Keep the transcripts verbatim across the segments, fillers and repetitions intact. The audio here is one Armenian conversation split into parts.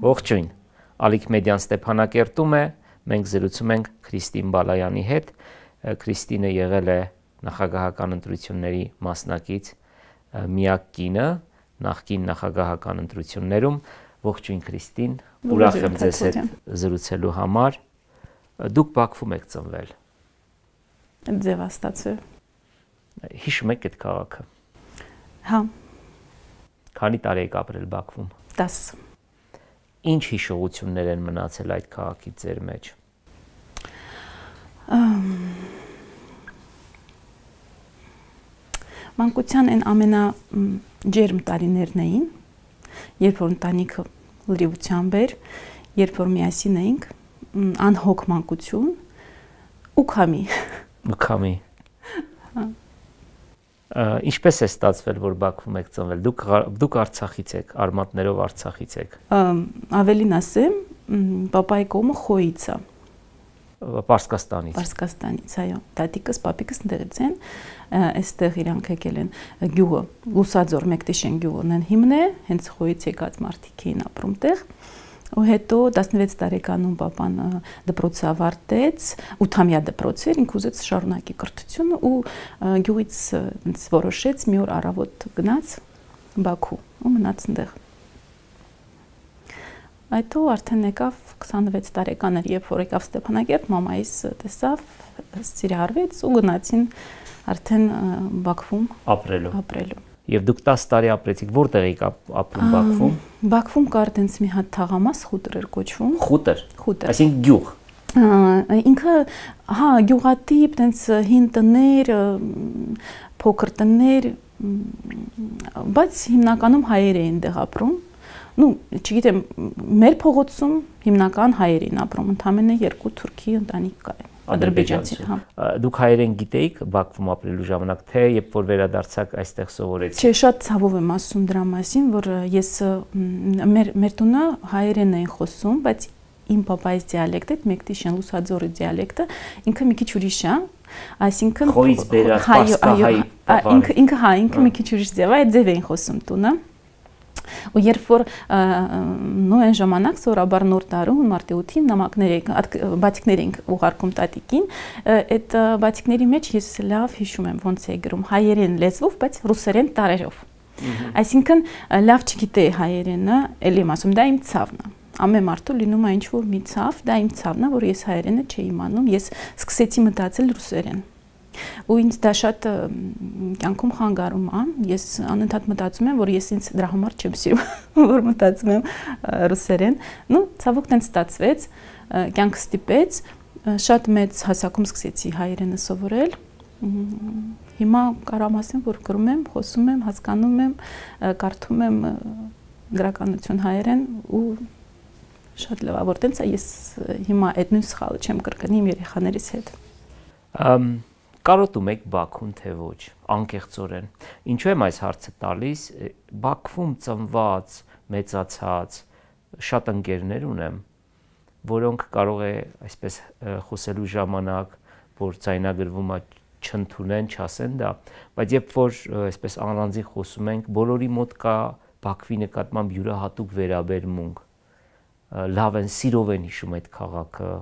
Ողջույն, Ալիք Մեդիան Ստեփանակերտում է, մենք զրուցում ենք Քրիստին Բալայանի հետ, Քրիստինը եղել է նախագահական ընտրությունների մասնակից միակ կինը, նախկին նախագահական ընտրություններում, ողջույն Քրիստին, ուրախ եմ ձեզ հետ զրուցելու համար, դուք Բաքվում եք ծնվել։ Ձևաստացը։ Հիշում եք այդ քաղաքը։ Հա։ Քանի տարի եք ապրել Բաքվում։ տասը։ Ինչ հիշողություններ են մնացել այդ քաղաքի ձեր մեջ։ Մանկության այն ամենաջերմ տարիներն էին, երբ որ ընտանիքը լրիվությամբ էր, երբ որ միասին էինք, անհոգ մանկություն ու քամի։ Ու քամի։ Ինչպես է ստացվել, որ Բաքվում եք ծնվել։ Դուք դուք Արցախից եք, արմատներով Արցախից եք։ Ավելին ասեմ, պապայի կողմը Խոյից է։ Պարսկաստանից։ Պարսկաստանից, այո։ Տատիկս, պապիկս ընդեղից են, այստեղ իրանք եկել են գյուղը, Լուսաձոր Մեկտիշեն գյուղն են հիմն է, հենց Խոյից եկած մարդիկ էին ապրում տեղ։ Ու հետո տասնվեց տարեկանում պապան դպրոցը ավարտեց, ութամյա դպրոց էր, ինքը ուզեց շարունակի կրթությունը ու գյուղից որոշեց մի օր առավոտ գնաց Բաքու ու մնաց այնտեղ։ Այդտեղ արդեն եկավ քսանվեց տարեկան էր, երբ որ եկավ Ստեփանակերտ, մամայիս տեսավ, սիրահարվեց ու գնացին արդեն Բաքվում ապրելու։ ապրելու։ Եվ դուք տասը տարի ապրեցիք, որտեղ եք ապրում Բաքվում։ Բաքվում կար տենց մի հատ թաղամաս, խուտր էր կոչվում։ Խուտր։ Խուտր։ Այսինքն գյուղ։ Ինքը, հա, գյուղատիպ, տենց հին տներ, փոքր տներ, բայց հիմնականում հայեր էին դեղ ապրում։ Ну, չգիտեմ, մեր փողոցում հիմնական հայեր էին ապրում, ընդամենը երկու թուրքի ընտանիք կար։ Ադրբեջանցի, հա։ Դուք հայերեն գիտեիք Բաքվում ապրելու ժամանակ, թե երբ որ վերադարձաք այստեղ սովորեցիք։ Չէ, շատ ցավով եմ ասում դրա մասին, որ ես մեր մեր տունը հայերեն էին խոսում, բայց իմ պապայից դիալեկտը, Մեկտիշեն Լուսաձորի դիալեկտը, ինքը մի քիչ ուրիշ է, այսինքն Խոյից բերած պարսկահայ, ինքը ինքը հա, ինքը մի քիչ ուրիշ ձև է, այդ ձև էին խոսում տունը։ Ու երբ որ նո այն ժամանակ սորաբար նոր տարում մարտի ութին նամակներ բաթիկներ ենք ուղարկում տատիկին, այդ բաթիկների մեջ ես լավ հիշում եմ ոնց է գրում հայերեն լեզվով, բայց ռուսերեն տարերով։ Այսինքն լավ չգիտեի հայերենը, էլի եմ ասում, դա իմ ցավն է։ Ամեն մարդու լինում է ինչ որ մի ցավ, դա իմ ցավն է, որ ես հայերենը չէի իմանում, ես սկսեցի մտածել ռուսերեն։ Ու ինձ դա շատ կյանքում խանգարում է, ես անընդհատ մտածում եմ, որ ես ինձ դրա համար չեմ սիրում, որ մտածում եմ ռուսերեն։ Ну, ցավոք տենց ստացվեց, կյանքը ստիպեց, շատ մեծ հասակում սկսեցի հայերենը սովորել։ Հիմա կարամ ասեմ, որ գրում եմ, խոսում եմ, հասկանում եմ, կարդում եմ գրականություն հայերեն ու շատ լավ է, որ տենց է ես հիմա այդ նույն սխալը չեմ կրկնի իմ երեխաներիս հետ։ Կարոտում եք Բաքուն, թե ոչ, անկեղծորեն։ Ինչու եմ այս հարցը տալիս, Բաքվում ծնված, մեծացած շատ ընկերներ ունեմ, որոնք կարող է այսպես խոսելու ժամանակ, որ ձայնագրվում է չընդունեն, չասեն դա, բայց երբ որ այսպես առանձին խոսում ենք, բոլորի մոտ կա Բաքվի նկատմամբ յուրահատուկ վերաբերմունք, լավ են, սիրով են հիշում այդ քաղաքը։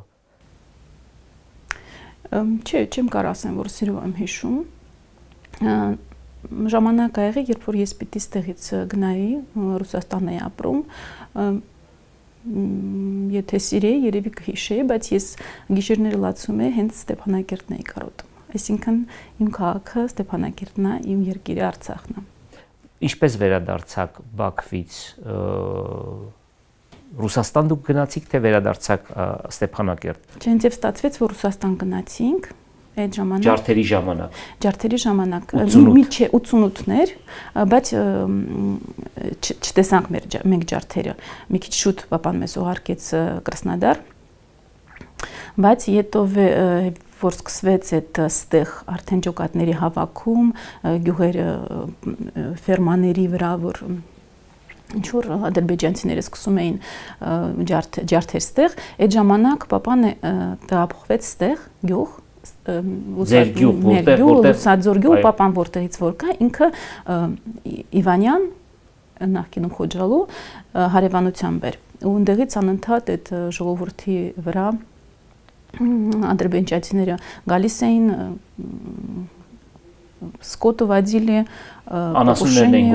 Չէ, չեմ կարող ասեմ, որ սիրով եմ հիշում։ Ժամանակ ա եղել, երբ որ ես պիտի ստեղից գնայի, Ռուսաստան էի ապրում, եթե սիրեի, երևի կհիշեի, բայց ես գիշերները լացում էի, հենց Ստեփանակերտն էի կարոտում։ Այսինքն իմ քաղաքը Ստեփանակերտն է, իմ երկիրը Արցախն է։ Ինչպես վերադարձաք Բաքվից Ռուսաստան դուք գնացիք, թե վերադարձաք Ստեփանակերտ։ Չէ, ինձ ստացվեց, որ Ռուսաստան գնացինք այդ ժամանակ։ Ջարդերի ժամանակ։ Ջարդերի ժամանակ, մի չէ ութսունութներ, բայց չտեսանք մենք ջարդերը։ Մի քիչ շուտ պապան մեզ ուղարկեց Կրասնոդար, բայց հետո որ սկսվեց այդ ստեղ արդեն ջոկատների հավաքում, գյուղերը ֆերմաների վրա, որ ինչ-որ ադրբեջանցիները սկսում էին ջարդեր ստեղ, այդ ժամանակ պապան տեղափոխվեց ստեղ գյուղ, ձեր գյուղ, որտեղ Լուսաձոր գյուղ, պապան որտեղից որ կա, ինքը Իվանյան, նախկինում Խոջալու հարևանությամբ էր։ ու ընդեղից անընդհատ այդ ժողովրդի վրա ադրբեջանցիները գալիս էին սկոտը վադիլի անասուններն էին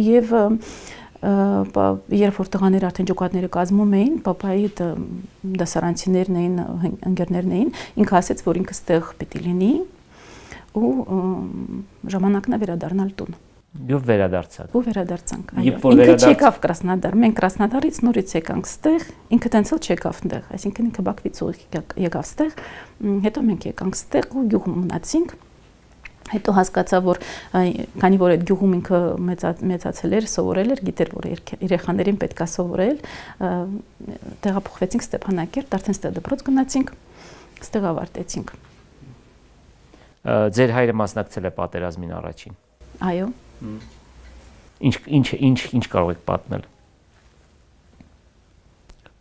եւ երբ որ տղաները արդեն ջոկատները կազմում էին, պապայի դասարանցիներն էին, ընկերներն էին, ինքը ասեց, որ ինքը ստեղ պիտի լինի ու ժամանակն է վերադառնալ տուն։ Եվ վերադարձաք։ Ու վերադարձանք, այո։ Ինքը չեկավ Կրասնոդար, մենք Կրասնոդարից նորից եկանք ստեղ, ինքը տենց էլ չեկավ այնտեղ, այսինքն ինքը Բաքվից ուղիղ եկավ ստեղ, հետո մենք եկանք ստեղ ու գյուղում մնացինք։ Հետո հասկացա, որ քանի որ այդ գյուղում ինքը մեծացել էր, սովորել էր, գիտեր, որ երեխաներին պետք է սովորել, տեղափոխվեցինք Ստեփանակերտ, արդեն ստեղ դպրոց գնացինք, ստեղ ավարտեցինք։ Ձեր հայրը մասնակցել է պատերազմին առաջին։ Այո։ Ինչ ինչ ինչ ինչ կարող եք պատմել։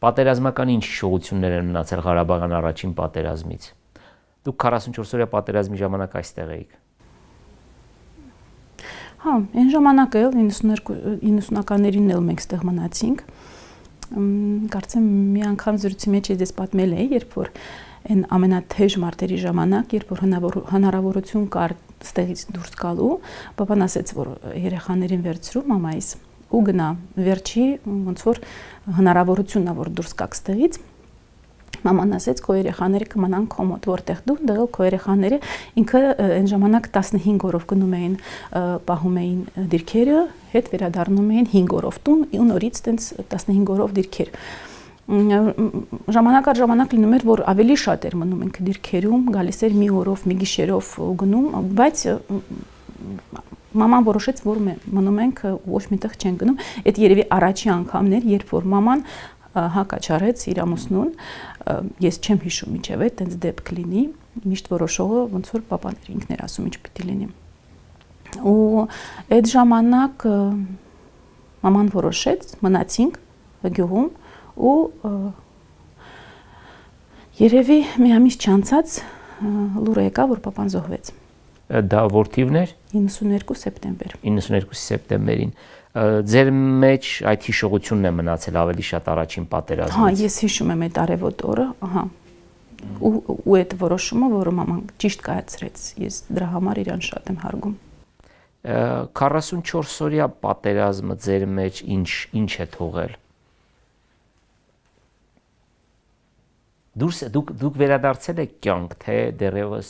Պատերազմական ինչ շոուություններ են մնացել Ղարաբաղյան առաջին պատերազմից։ Դուք քառասունչորս օրյա պատերազմի ժամանակ այստեղ էիք։ Հա, այն ժամանակ էլ իննսունականներին էլ մենք ստեղ մնացինք։ Կարծեմ մի անգամ զրույցի մեջ ես պատմել էի, երբ որ այն ամենաթեժ մարտերի ժամանակ, երբ որ հնարավորություն կար ստեղից դուրս գալու, պապան ասեց, որ երեխաներին վերցրու մամայիս ու գնա վերջի ոնց որ հնարավորությունն է, որ դուրս գաք ստեղից։ Մաման ասեց, քո երեխաները կմնան քո մոտ, որտեղ դու, դեղ քո երեխաները ինքը այն ժամանակ տասնհինգ օրով գնում էին, պահում էին դիրքերը, հետ վերադառնում էին հինգ օրով տուն, ու նորից տենց տասնհինգ օրով դիրքեր։ Ժամանակ առ ժամանակ լինում էր, որ ավելի շատ էր մնում ինքը դիրքերում, գալիս էր մի օրով, մի գիշերով գնում, բայց մաման որոշեց, որ մնում ենք ոչ միտեղ չեն գնում։ Այդ երևի առաջի անգամն էր, երբ որ մաման հակաչարեց իր ամուսնուն, ես չեմ հիշում ինչև է, տենց դեպք լինի, միշտ որոշողը ոնց որ պապան էր, ինքն էր ասում ինչ պիտի լինի։ Ու այդ ժամանակ մաման որոշեց, մնացինք գյուղում ու երևի մի ամիս չանցած լուրը եկավ, որ պապան զոհվեց։ Դա որ թիվն էր։ իննսուներկու սեպտեմբեր։ իննսուներկու սեպտեմբերին։ Ձեր մեջ այդ հիշողությունն է մնացել ավելի շատ առաջին պատերազմից։ Հա, ես հիշում եմ այդ արևոտ օրը, ահա։ Ու այդ որոշումը, որը մաման ճիշտ կայացրեց, ես դրա համար իրան շատ եմ հարգում։ քառասունչորս օրյա պատերազմը ձեր մեջ ինչ ինչ է թողել։ Դուրս դուք դուք վերադարձել եք կյանք, թե դեռևս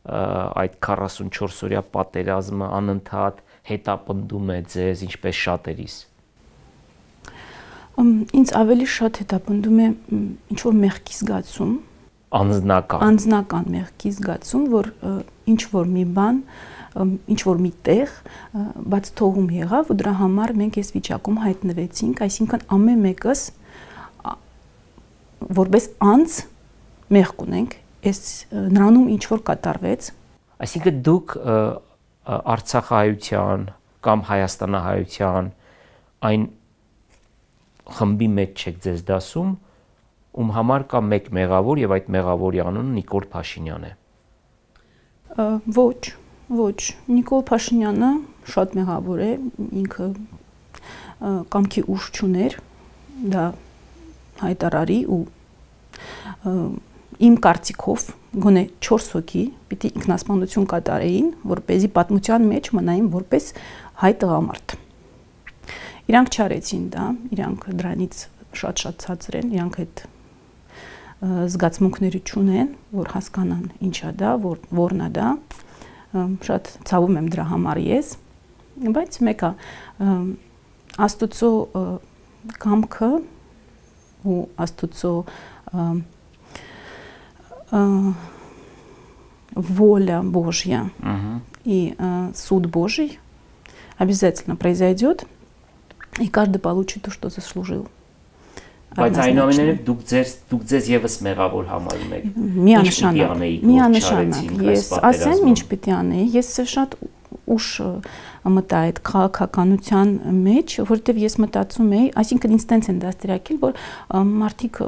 այդ քառասունչորս օրյա պատերազմը անընդհատ հետապնդում է ձեզ ինչպես շատերիս։ Ինձ ավելի շատ հետապնդում է ինչ որ մեղքի զգացում, անձնական անձնական մեղքի զգացում, որ ինչ որ մի բան, ինչ որ մի տեղ բաց թողում եղավ ու դրա համար մենք այս վիճակում հայտնվեցինք, այսինքն ամեն մեկս որպես անձ մեղք ունենք, այս նրանում ինչ որ կատարվեց։ Այսինքն դուք Արցախահայության կամ Հայաստանահայության այն խմբի մեջ չեք ձեզ դասում, ում համար կա մեկ մեղավոր եւ այդ մեղավորի անունը Նիկոլ Փաշինյան է։ Ոչ, ոչ, Նիկոլ Փաշինյանը շատ մեղավոր է, ինքը կամքի ուժ չուներ, դա հայտարարի ու իմ կարծիքով գոնե չորս հոգի պիտի ինքնասպանություն կատարեին, որպեսզի պատմության մեջ մնային որպես հայ տղամարդ։ Իրանք չարեցին դա, իրանք դրանից շատ-շատ ցածր են, իրանք այդ զգացմունքները չունեն, որ հասկանան ինչա դա, որ որն է դա, շատ ցավում եմ դրա համար ես, բայց մեկը Աստուծո կամքը ու Աստուծո воля Божья uh-huh. и uh, суд Божий обязательно произойдет, и каждый получит то, что заслужил. Բայց այնուամենայնիվ դուք ձեր դուք ձեզ եւս մեղավոր համարում եք։ Միանշանակ, միանշանակ։ Ես ասեմ ինչ պիտի անեի, ես շատ ուշ մտա այդ քաղաքականության մեջ, որովհետև ես մտածում էի, այսինքն ինձ տենց են դաստիարակել, որ մարդիկ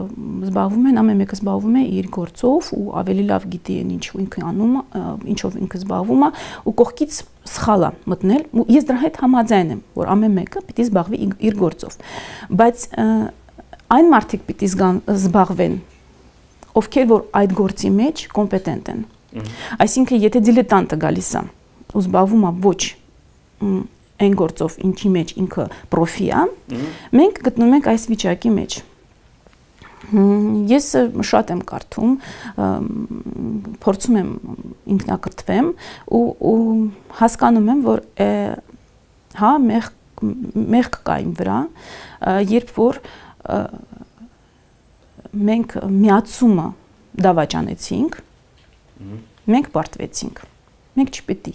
զբաղվում են, ամեն մեկը զբաղվում է իր գործով ու ավելի լավ գիտի են ինչ ինքը անում, ինչով ինքը զբաղվում է ու կողքից սխալ է մտնել ու ես դրա հետ համաձայն եմ, որ ամեն մեկը պիտի զբաղվի իր գործով, բայց այն մարդիկ պիտի զբաղվեն, ովքեր որ այդ գործի մեջ կոմպետենտ են։ Այսինքն եթե դիլետանտը գալիս է ու զբաղվում է ոչ այն գործով, ինչի մեջ ինքը պրոֆի է, մենք գտնում ենք այս վիճակի մեջ։ Ես շատ եմ կարդում, փորձում եմ ինքնակրթվեմ ու հասկանում եմ, որ հա մեղք կա իմ վրա, երբ որ մենք միացումը դավաճանեցինք, մենք պարտվեցինք, մենք չպետք է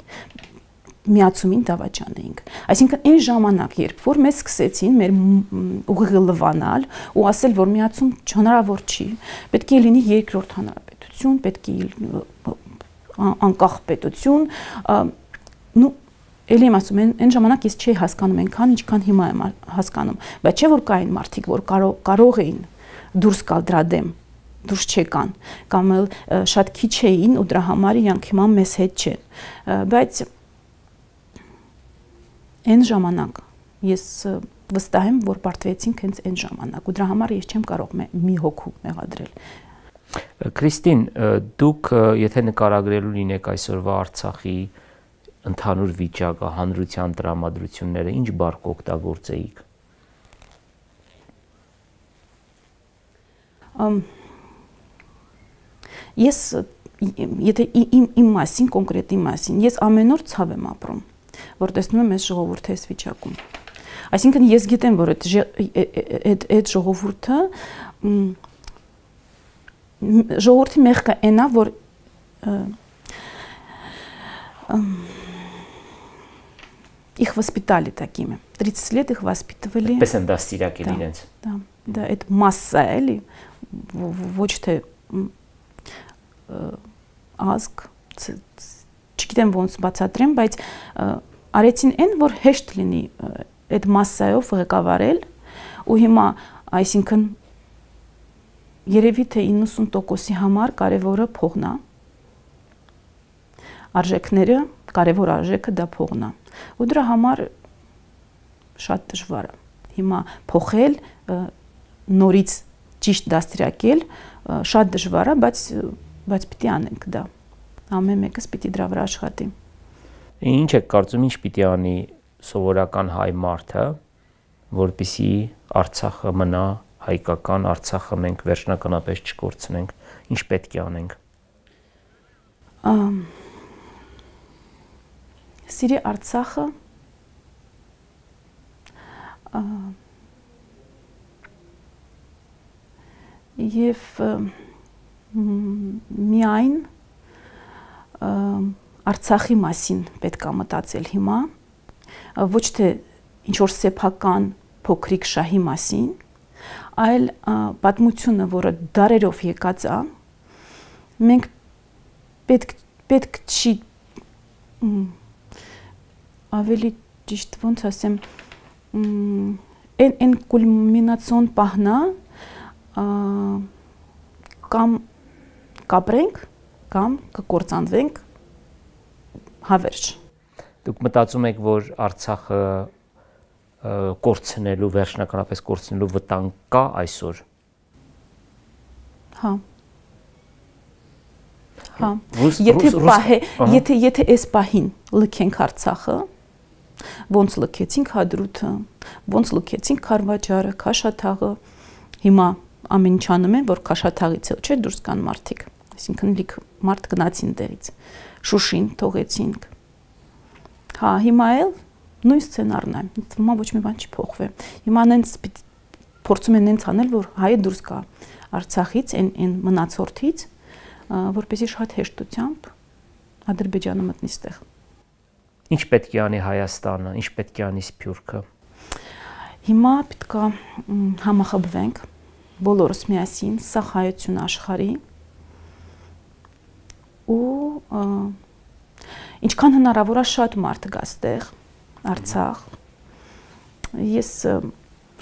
միացումին դավաճանեինք։ Այսինքն այն ժամանակ, երբ որ մեզ սկսեցին մեր ուղիղը լվանալ ու ասել, որ միացում հնարավոր չի, պետք է լինի երկրորդ հանրապետություն, պետք է անկախ պետություն, նու Էլի եմ ասում, այն ժամանակ ես չէի հասկանում այնքան, ինչքան հիմա եմ հասկանում, բայց չէ որ կային մարդիկ, որ կարող էին դուրս գալ դրա դեմ, դուրս չեկան, կամ էլ շատ քիչ էին ու դրա համար իրանք հիմա մեզ հետ չեն, բայց այն ժամանակ ես վստահ եմ, որ պարտվեցինք հենց այն ժամանակ ու դրա համար ես չեմ կարող մի հոգու մեղադրել։ Քրիստին, դուք եթե նկարագրելու լինեք այսօրվա Արցախի ընդհանուր վիճակը, հանրության տրամադրությունները, ինչ բառ կօգտագործեիք։ Ես եթե իմ մասին, կոնկրետ իմ մասին, ես ամեն օր ցավ եմ ապրում, որ տեսնում եմ այս ժողովուրդը այս վիճակում։ Այսինքն ես գիտեմ, որ այդ այդ ժողովուրդը ժողովրդի մեղքը այն է, որ их воспитали такими. тридцать лет их воспитывали. Պես են դաստիարակել իրենց։ Да, да, այդ մասսա է, էլի, ոչ թե ազգ, չգիտեմ ոնց բացատրեմ, բայց արեցին այն, որ հեշտ լինի այդ մասսայով ղեկավարել ու հիմա, այսինքն երևի թե իննսուն տոկոսի համար կարևորը փողն է, արժեքները, կարևոր արժեքը դա փողն է ու դրա համար շատ դժվար է հիմա փոխել, նորից ճիշտ դաստիարակել, շատ դժվար է, բայց բայց պիտի անենք դա, ամեն մեկս պիտի դրա վրա աշխատի։ Ինչ եք կարծում, ինչ պիտի անի սովորական հայ մարդը, որպեսզի Արցախը մնա հայկական, Արցախը մենք վերջնականապես չկորցնենք, ինչ պետք է անենք։ Սիրի Արցախը եւ միայն Արցախի մասին պետք է մտածել հիմա, ոչ թե ինչ որ սեփական փոքրիկ շահի մասին, այլ պատմությունը, որը դարերով եկած է, մենք պետք պետք չի ավելի ճիշտ ոնց ասեմ, այն կուլմինացիոն պահն է, կամ կապրենք, կամ կկործանվենք հավերժ։ Դուք մտածում եք, որ Արցախը կորցնելու, վերջնականապես կորցնելու վտանգ կա այսօր։ Հա։ Հա։ Եթե պահե, եթե եթե այս պահին լքենք Արցախը, ոնց լքեցինք Հադրութը, ոնց լքեցինք Քարվաճարը, Քաշաթաղը, հիմա ամեն ինչ անում են, որ Քաշաթաղից էլ չէ դուրս կան մարդիկ, այսինքն լիք մարդ գնացին տեղից, Շուշին թողեցինք։ Հա, հիմա էլ նույն սցենարն է, հիմա ոչ մի բան չի փոխվել։ Հիմա նենց փորձում են նենց անել, որ հայը դուրս գա Արցախից, այն այն մնացորդից, որպեսզի շատ հեշտությամբ Ադրբեջանը մտնի ստեղ։ Ինչ պետք է անի Հայաստանը, ինչ պետք է անի Սփյուռքը։ Հիմա պետք է համախմբվենք բոլորս միասին, սա հայություն աշխարհի ու ինչքան հնարավոր է շատ մարդ գա այստեղ Արցախ։ Ես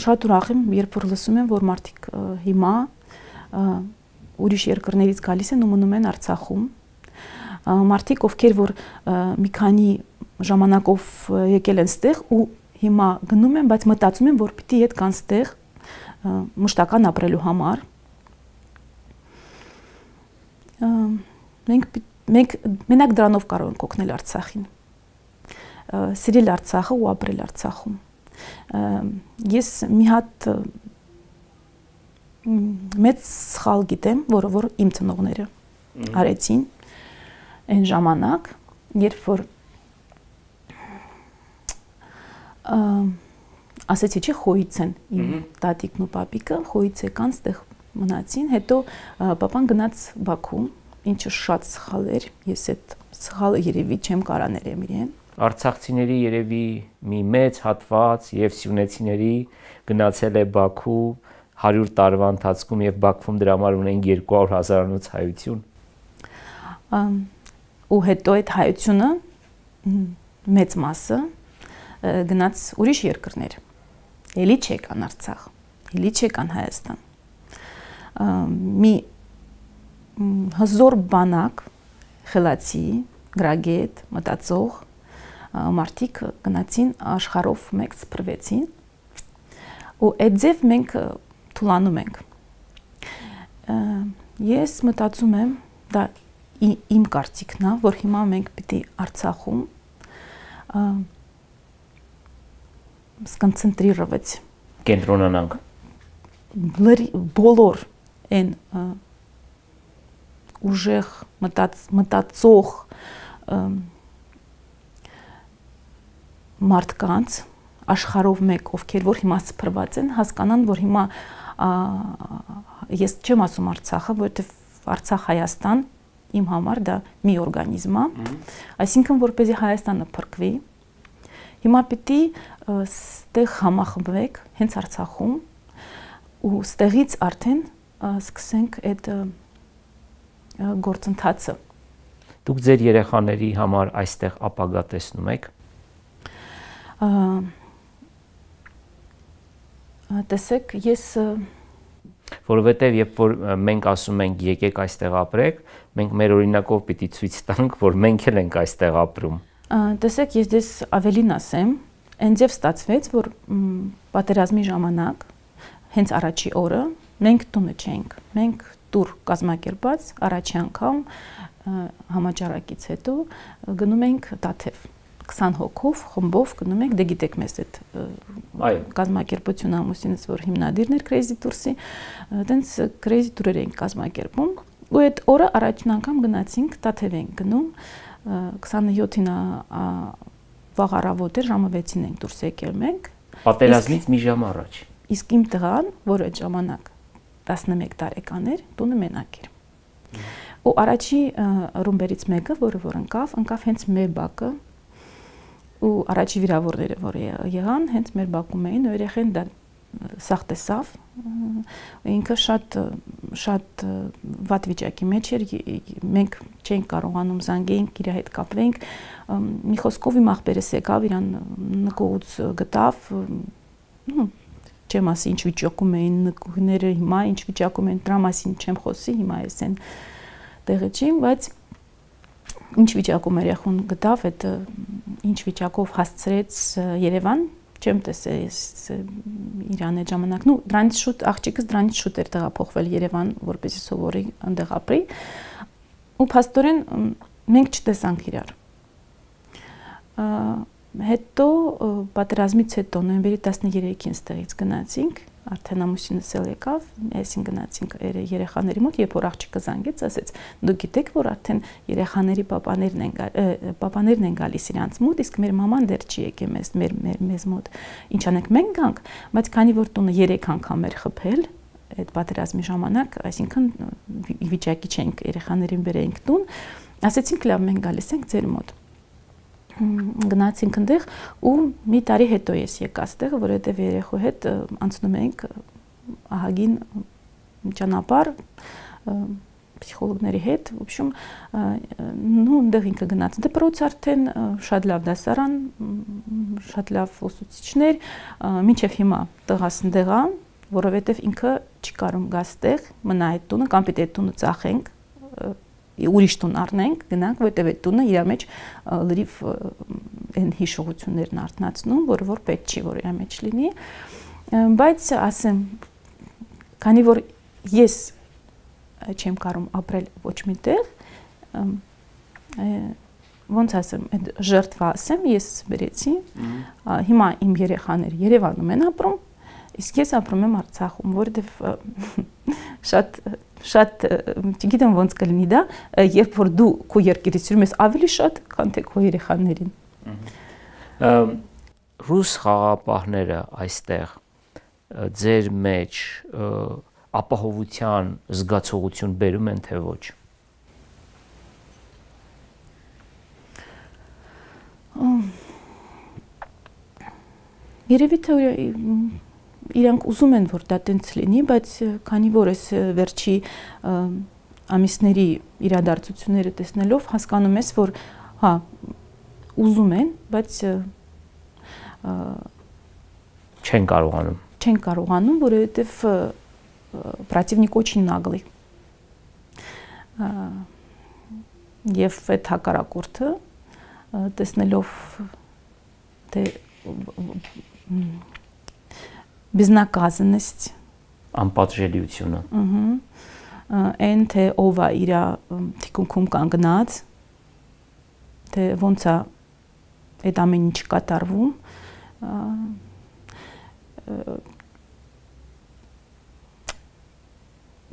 շատ ուրախ եմ, երբ որ լսում եմ, որ մարդիկ հիմա ուրիշ երկրներից գալիս են ու մնում են Արցախում։ Մարդիկ, ովքեր որ մի քանի ժամանակով եկել են ստեղ ու հիմա գնում են, բայց մտածում են, որ պիտի հետ կան ստեղ մշտական ապրելու համար։ Մենք մենք մենակ դրանով կարող ենք օգնել Արցախին։ Սիրել Արցախը ու ապրել Արցախում։ Ես մի հատ մեծ սխալ գիտեմ, որը որ իմ ծնողները արեցին այն ժամանակ, երբ որ ասեցի չէ խոյից են իմ տատիկն ու պապիկը, խոյից եկան, ստեղ մնացին, հետո պապան գնաց Բաքու, ինչը շատ սխալ էր, ես այդ սխալը երևի չեմ կարա ներեմ իրեն։ Արցախցիների երևի մի մեծ հատված եւ սյունեցիների գնացել է Բաքու հարյուր տարվա ընթացքում եւ Բաքվում դրա համար ունեն երկու հարյուր հազարանոց հայություն։ Ու հետո այդ հայությունը մեծ մասը գնաց ուրիշ երկրներ։ Էլի չեկան Արցախ, էլի չեկան Հայաստան։ Մի հզոր բանակ, խելացի, գրագետ, մտածող մարդիկ գնացին աշխարհով մեկ սփռվեցին ու այդ ձև մենք թուլանում ենք։ Ես մտածում եմ, դա իմ կարծիքն է, որ հիմա մենք պիտի Արցախում սկոնցենտրировать կենտրոնանանք բոլոր այն ուժեղ մտածող մարդկանց աշխարհով մեկ, ովքեր որ հիմա սփռված են, հասկանան, որ հիմա ես չեմ ասում Արցախը, որովհետև Արցախ Հայաստան իմ համար դա մի օրգանիզմ է, այսինքն որպեսզի Հայաստանը փրկվի, հիմա պիտի ստեղ համախմբվեք հենց Արցախում ու ստեղից արդեն սկսենք այդ գործընթացը։ Դուք ձեր երեխաների համար այստեղ ապագա տեսնում եք։ Տեսեք, ես որովհետև երբ որ մենք ասում ենք եկեք այստեղ ապրեք, մենք մեր օրինակով պիտի ցույց տանք, որ մենք էլ ենք այստեղ ապրում։ Տեսեք, ես դες ավելին ասեմ, այնձև ստացվեց, որ պատերազմի ժամանակ հենց առաջի օրը մենք տունը չենք, մենք տուր կազմակերպած առաջի անգամ համաճարակից հետո գնում ենք Տաթև քսան հոգով խմբով գնում ենք, դե գիտեք մեզ այդ կազմակերպությունը ամուսինս որ հիմնադիրն էր Crazy Tours-ի, այդպես Crazy Tour-եր ենք կազմակերպում ու այդ օրը առաջին անգամ գնացինք Տաթև ենք գնում քսանյոթին վաղ առավոտ էր ժամը վեցին ենք դուրս եկել մենք պատերազմից մի ժամ առաջ իսկ իմ տղան որ այդ ժամանակ տասնմեկ տարեկան էր տունը մենակ էր ու առաջի ռումբերից մեկը որը որ ընկավ ընկավ հենց մեր բակը ու առաջի վիրավորները որ եղան հենց մեր բակում էին ու երեխեն դա սաղ տեսավ ինքը շատ շատ վատ վիճակի մեջ էր մենք չենք կարողանում զանգեինք իր հետ կապվենք մի խոսքով իմ աղբերս եկավ իրան նկողուց գտավ չեմ ասի ինչ վիճակում էին նկուհները հիմա ինչ վիճակում են դրա մասին չեմ խոսի հիմա ես այն տեղը չի բայց ինչ վիճակում երեխուն գտավ այդ ինչ վիճակով հասցրեց Երևան չեմ տեսել իրան այդ ժամանակ նու դրանից շուտ աղջիկս դրանից շուտ էր տեղափոխվել Երևան որպեսզի սովորի այնտեղ ապրի ու փաստորեն մենք չտեսանք իրար հետո պատերազմից հետո նոյեմբերի տասներեքին ստեղից գնացինք արդեն ամուսինս էլ եկավ այսին գնացինք երեխաների մոտ երբ որ աղջիկը զանգեց ասեց դուք գիտեք որ արդեն երեխաների պապաներն են պապաներն են գալիս իրանց մոտ իսկ մեր մաման դեռ չի եկել մեզ մեր մեզ մոտ ինչ անենք մենք գանք բայց քանի որ տունը երեք անգամ էր խփել այդ պատերազմի ժամանակ այսինքն վիճակի չենք երեխաներին բերեինք տուն ասեցինք լավ մենք գալիս ենք ձեր մոտ գնացինք այնտեղ ու մի տարի հետո ես եկա այստեղ որովհետև երեխու հետ անցնում ենք ահագին ճանապարհ պսիխոլոգների հետ, в общем, ну, այնտեղ ինքը գնաց դպրոց արդեն, շատ լավ դասարան, շատ լավ ուսուցիչներ, մինչև հիմա տղաս այնտեղ է, որովհետև ինքը չի կարող գաստեղ մնա այդ տունը, կամ պիտի այդ տունը ծախենք, ուրիշ տուն առնենք, գնանք, որտեղ այդ տունը իր մեջ լրիվ այն հիշողություններն արթնացնում, որը որ պետք չի, որ իր մեջ լինի, բայց ասեմ, քանի որ ես չեմ կարող ապրել ոչ մի տեղ, ոնց ասեմ, այդ ժերտվա ասեմ, ես բերեցի, հիմա իմ երեխաները Երևանում են ապրում, իսկ ես ապրում եմ Արցախում, որովհետև շատ շատ չգիտեմ ոնց կլինի դա, երբ որ դու քո երկիրից սիրում ես ավելի շատ, քան թե քո երեխաներին։ Ռուս խաղապահները այստեղ ձեր մեջ ապահովության զգացողություն բերում են թե ոչ։ Երևի թե իրանք ուզում են, որ դա տենց լինի, բայց քանի որ ես վերջի ամիսների իրադարձությունները տեսնելով հասկանում ես, որ հա, ուզում են, բայց չեն կարողանում։ Չեն կարողանում, որովհետև противник очень наглый։ Եվ այդ հակառակորդը տեսնելով թե безнаказанность, անպատժելիությունը։ Այն թե ով է իր թիկունքում կանգնած, թե ոնց է այդ ամեն ինչ կատարվում,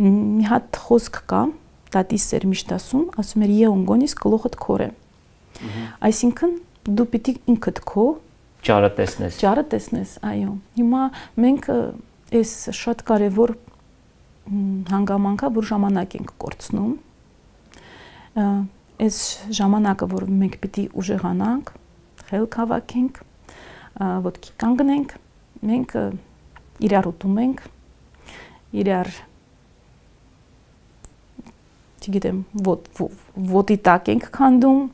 մի հատ խոսք կա, տատիս էր միշտ ասում, ասում էր «Եուն գոնիս գլուխդ քոր է»։ Այսինքն դու պիտի ինքդ քո ճարը տեսնես։ Ճարը տեսնես, այո։ Հիմա մենք այս շատ կարևոր հանգամանքա, որ ժամանակ ենք կորցնում։ Այս ժամանակը, որ մենք պիտի ուժեղանանք, խելք հավաքենք, ոտքի կանգնենք, մենք իրար ուտում ենք, իրար չգիտեմ, ոտի տակ ենք քանդում,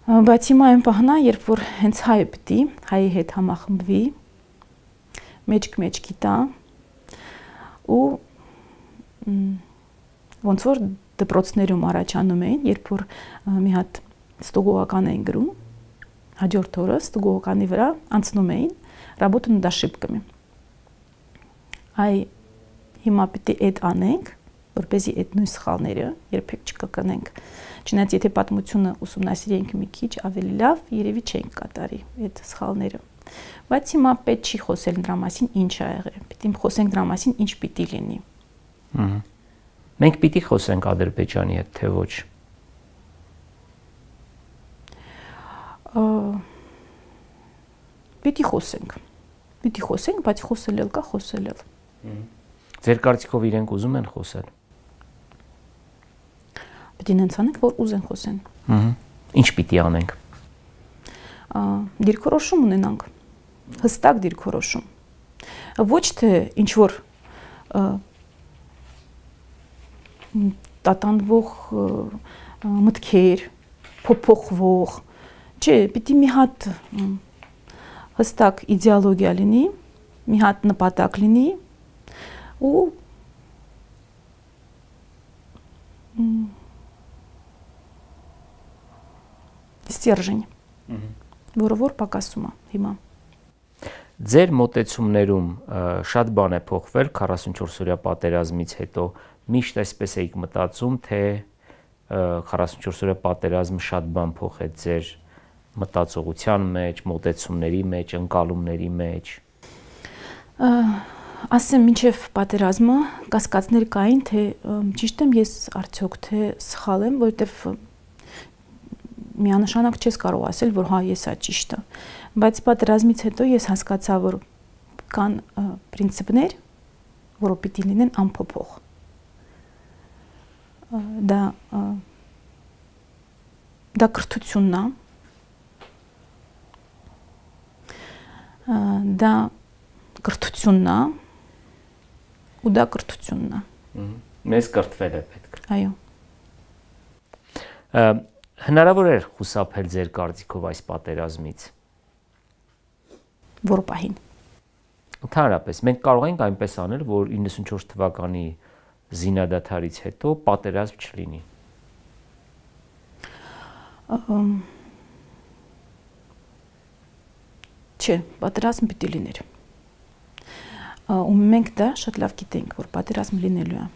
բայց հիմա այն պահն է, երբ որ հենց հայը պիտի, հայի հետ համախմբվի, մեջք-մեջքի տա ու ոնց որ դպրոցներում առաջանում էին, երբ որ մի հատ ստուգողական էին գրում, հաջորդ օրը ստուգողականի վրա անցնում էին, работу над ошибками։ Այ հիմա պիտի այդ անենք, որպեսզի այդ նույն սխալները երբեք չկրկնենք։ Չնայած եթե պատմությունը ուսումնասիրենք մի քիչ ավելի լավ, երևի չենք կատարի այդ սխալները։ Բայց հիմա պետք չի խոսել դրա մասին ինչ ա եղել։ Պիտի խոսենք դրա մասին ինչ պիտի լինի։ Մենք պիտի խոսենք Ադրբեջանի հետ, թե ոչ։ Պիտի խոսենք։ Պիտի խոսենք, բայց խոսել էլ կա, խոսել էլ։ Ձեր կարծիքով իրենք ուզում են խոսել։ Պիտի նենց անենք, որ ուզեն խոսեն։ Ինչ պիտի անենք։ Դիրքորոշում ունենանք, հստակ դիրքորոշում։ Ոչ թե ինչ որ տատանվող մտքեր, փոփոխվող, չէ, պիտի մի հատ հստակ իդեոլոգիա լինի, մի հատ նպատակ լինի ու ստержень, որը որ պակասում է հիմա։ Ձեր մոտեցումներում շատ բան է փոխվել քառասունչորս օրյա պատերազմից հետո, միշտ այսպես էիք մտածում, թե քառասունչորս օրյա պատերազմը շատ բան փոխեց ձեր մտածողության մեջ, մոտեցումների մեջ, ընկալումների մեջ։ Ասեմ, մինչև պատերազմը կասկածներ կային, թե ճիշտ եմ ես արդյոք, թե սխալ եմ, որովհետև միանշանակ չես կարող ասել, որ հա ես ա ճիշտը, բայց պատերազմից հետո ես հասկացա, որ կան պրինցիպներ, որը պիտի լինեն անփոփոխ։ Դա դա կրթությունն է, դա կրթությունն է ու դա կրթությունն է։ Մեզ կրթվել է պետք։ Այո։ Հնարավոր էր խուսափել ձեր կարծիքով այս պատերազմից։ Որ պահին։ Ընդհանրապես, մենք կարող ենք այնպես անել, որ իննսունչորս թվականի զինադադարից հետո պատերազմ չլինի։ Չէ, պատերազմ պիտի լիներ։ Ու մենք դա շատ լավ գիտենք, որ պատերազմ լինելու է։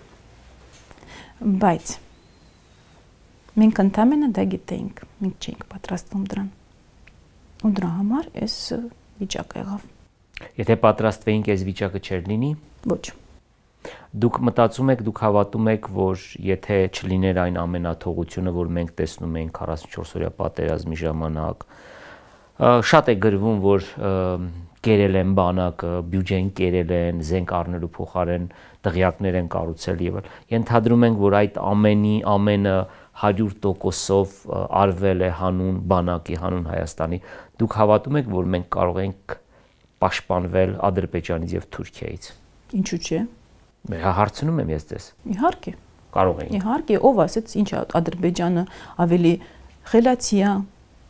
Բայց մենք ընդամենը դա գիտենք, մենք չենք պատրաստվում դրան։ Ու դրա համար այս վիճակը եղավ։ Եթե պատրաստվեինք, այս վիճակը չէր լինի։ Ոչ։ Դուք մտածում եք, դուք հավատում եք, որ եթե չլիներ այն ամենաթողությունը, որ մենք տեսնում ենք քառասունչորս օրյա պատերազմի ժամանակ, շատ է գրվում, որ կերել են բանակը, բյուջեն կերել են, զենք առնելու փոխարեն դղյակներ են կառուցել եւ այլ։ Ենթադրում ենք, որ այդ ամենի ամենը հարյուր տոկոսով արվել է հանուն բանակի, հանուն Հայաստանի։ Դուք հավատում եք, որ մենք կարող ենք պաշտպանվել Ադրբեջանից եւ Թուրքիայից։ Ինչու՞ չէ։ Հարցնում եմ ես ձեզ։ Իհարկե։ Կարող ենք։ Իհարկե, ով ասեց, ինչ Ադրբեջանը ավելի խելացի է։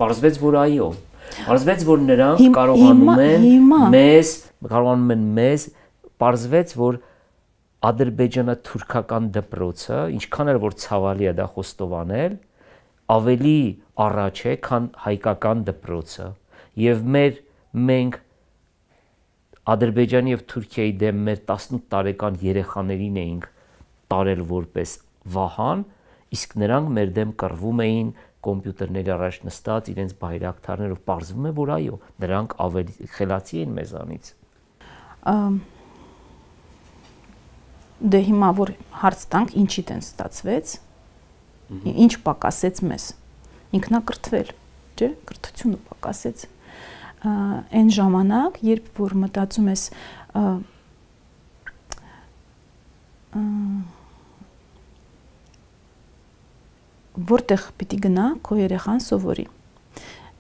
Պարզվեց, որ այո։ Պարզվեց, որ նրանք կարողանում են մեզ, կարողանում են մեզ, պարզվեց, որ ադրբեջանա-թուրքական դպրոցը, ինչքան էլ որ ցավալի է դա խոստովանել, ավելի առաջ է, քան հայկական դպրոցը։ Եվ մեր մենք Ադրբեջանի եւ Թուրքիայի դեմ մեր տասնութ տարեկան երեխաներին էինք տարել որպես վահան, իսկ նրանք մեր դեմ կռվում էին կոմպյուտերների առաջ նստած իրենց բայրակթարներով, պարզվում է, որ այո, նրանք ավելի խելացի են մեզանից։ Դե հիմա որ հարց տանք, ինչի տեն ստացվեց, ինչ պակասեց մեզ, ինքնակրթվել, չէ, կրթությունը պակասեց։ Այն ժամանակ, երբ որ մտածում ես որտեղ պիտի գնա քո երեխան սովորի։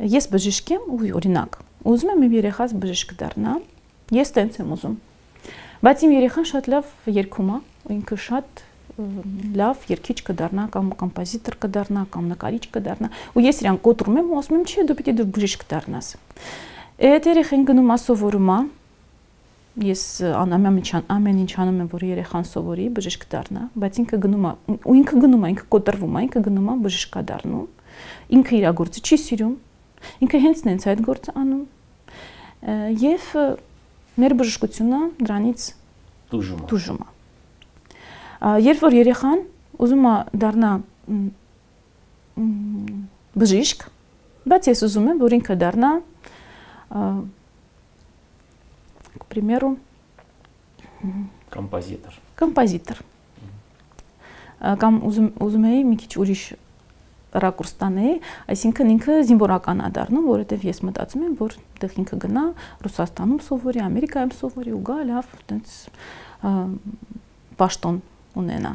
Ես բժիշկ եմ ու օրինակ, ուզում եմ իմ երեխաս բժիշկ դառնա, ես տենց եմ ուզում։ Բայց իմ երեխան շատ լավ երգում է, ինքը շատ լավ երգիչ կդառնա կամ կոմպոզիտոր կդառնա կամ նկարիչ կդառնա, ու ես իրան կոտրում եմ ու ասում եմ, չէ, դու պիտի դու բժիշկ դառնաս։ Այդ երեխան գնում է սովորում է, ես ամեն ինչ անում եմ, որ երեխան սովորի, բժիշկ դառնա, բայց ինքը գնում է, ու ինքը գնում է, ինքը կոտրվում է, ինքը գնում է բժիշկ է դառնում, ինքը իր գործը չի սիրում, ինքը հենց նենց այդ գործը անում, եւ մեր բժշկությունը դրանից տուժում է։ Երբ որ երեխան ուզում է դառնա բժիշկ, բայց ես ուզում եմ, որ ինքը դառնա к примеру, композитор. Композитор. Կամ ուզում էի մի քիչ ուրիշ ռակուրս տանեի, այսինքն ինքը զինվորական է դառնում, որովհետև ես մտածում եմ, որ դեռ ինքը գնա Ռուսաստանում սովորի, Ամերիկայում սովորի ու գա լավ այդպես պաշտոն ունենա։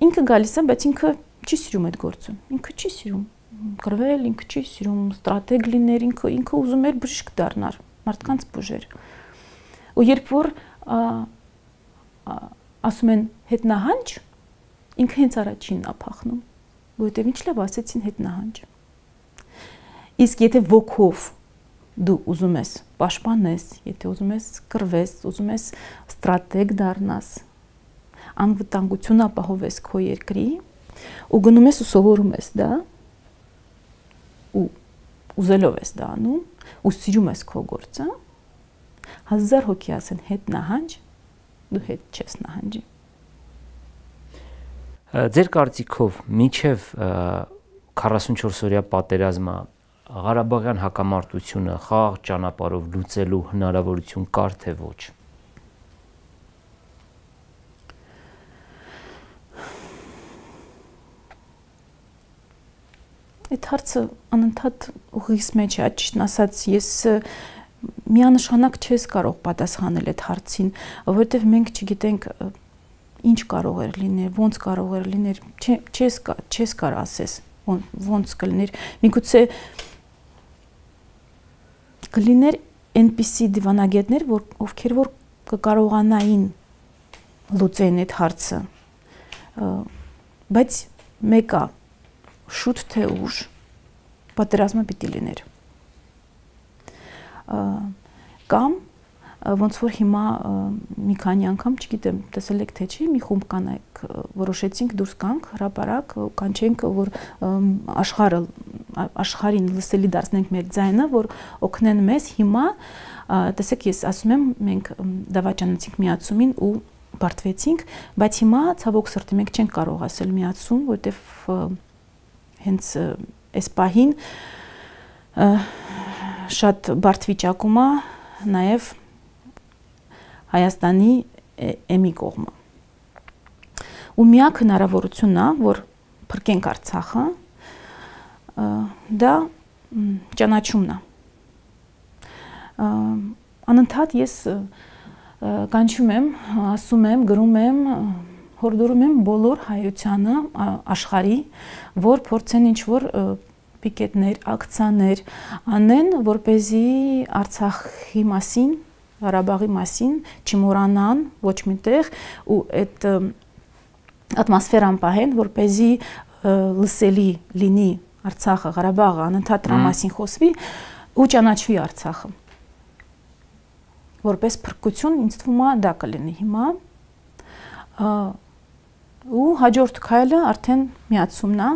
Ինքը գալիս է, բայց ինքը չի սիրում այդ գործը։ Ինքը չի սիրում կռվել, ինքը չի սիրում ստրատեգ լիներ, ինքը ինքը ուզում էր բժիշկ դառնալ, մարդկանց բուժեր։ Ու երբ որ ասում են հետնահանջ, ինքը հենց առաջինն է փախնում, որովհետև ինչ լավ ասեցին հետնահանջ։ Իսկ եթե ոգով դու ուզում ես պաշտպանես, եթե ուզում ես կռվես, ուզում ես ստրատեգ դառնաս, անվտանգություն ապահովես քո երկրի, ու գնում ես ու սովորում ես դա, ու ուզելով ես դա անում, ու սիրում ես քո գործը, հազար հոգի ասեն հետ նահանջ, դու հետ չես նահանջի։ Ձեր կարծիքով մինչև քառասունչորս օրյա պատերազմը Ղարաբաղյան հակամարտությունը խաղաղ ճանապարհով լուծելու հնարավորություն կար թե ոչ։ Այդ հարցը անընդհատ ուղիս մեջ է, ճիշտն ասած, ես միանշանակ չես կարող պատասխանել այդ հարցին, որովհետև մենք չգիտենք ինչ կարող էր լինել, ոնց կարող էր լինել, չես չես կարող ասես, ոնց կլիներ։ Միգուցե կլիներ այնպիսի դիվանագետներ, որ ովքեր որ կկարողանային լուծեն այդ հարցը, բայց մեկը շուտ թե ուշ պատերազմը պիտի լիներ։ Կամ ոնց որ հիմա մի քանի անգամ, չգիտեմ, տեսել եք թե չի, մի խումբ կանայք որոշեցինք դուրս գանք հրապարակ, կանչենք, որ աշխարհը աշխարհին լսելի դարձնենք մեր ձայնը, որ օգնեն մեզ հիմա, տեսեք, ես ասում եմ, մենք դավաճանեցինք միացումին ու բարդվեցինք, բայց հիմա ցավոք սրտի մենք չենք կարող ասել միացում, որովհետև հենց այս պահին շատ բարդ վիճակում է նաև Հայաստանի էմի կողմը։ Ու միակ հնարավորությունն է, որ փրկենք Արցախը, դա ճանաչումն է։ Անընդհատ ես կանչում եմ, ասում եմ, գրում եմ, հորդորում եմ բոլոր հայությանը, աշխարհի, որ փորձեն ինչ-որ պիկետներ, ակցիաներ անեն, որպեսզի Արցախի մասին, Ղարաբաղի մասին չմոռանան ոչ միտեղ ու այդ ատմոսֆերան պահեն, որպեսզի լսելի լինի Արցախը, Ղարաբաղը, անընդհատ դրա մասին խոսվի ու ճանաչվի Արցախը։ Որպես փրկություն ինձ թվում է դա կլինի հիմա։ Ու հաջորդ քայլը արդեն միացումն է։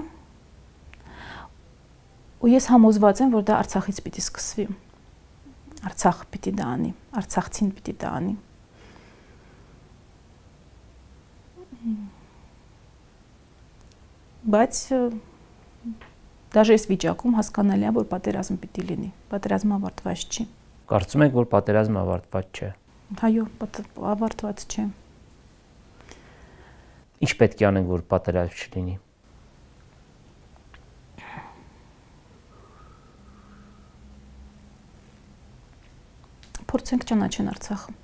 Ու ես համոզված եմ, որ դա Արցախից պիտի սկսվի։ Արցախը պիտի դա անի, Արցախցին պիտի դա անի։ Բայց դաժե այս վիճակում հասկանալի է, որ պատերազմ պիտի լինի, պատերազմը ավարտված չի։ Կարծում եք, որ պատերազմը ավարտված չէ։ Այո, ավարտված չէ։ Ինչ պետք է անենք, որ պատերազմ չլինի։ Փորձենք ճանաչեն Արցախը։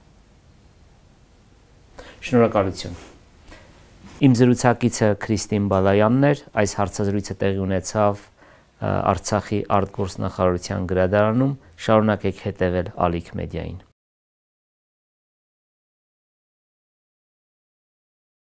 Շնորհակալություն։ Իմ զրուցակիցը Քրիստին Բալայանն էր, այս հարցազրույցը տեղի ունեցավ Արցախի արտգործնախարարության գրադարանում, շարունակեք հետևել Ալիք մեդիային։